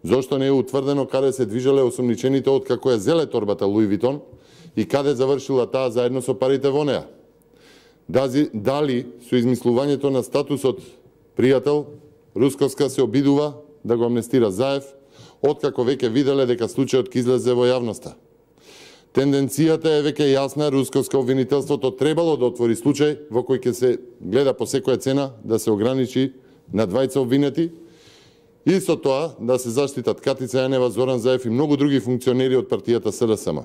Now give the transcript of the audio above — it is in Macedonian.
Зошто не е утврдено каде се движеле осумничените откако ја зеле торбата Луи Витон и каде завршила таа заедно со парите во неа? Дали со измислувањето на статусот пријател, Русковска се обидува да го амнестира Заев, откако веќе виделе дека случајот ќе излезе во јавноста? Тенденцијата е веќе јасна, Русковска обвинителството требало да отвори случај во кој ќе се гледа по секоја цена да се ограничи на двајца обвинети и со тоа да се заштитат Катица Јанева, Зоран Заев и многу други функционери од партијата СДСМ.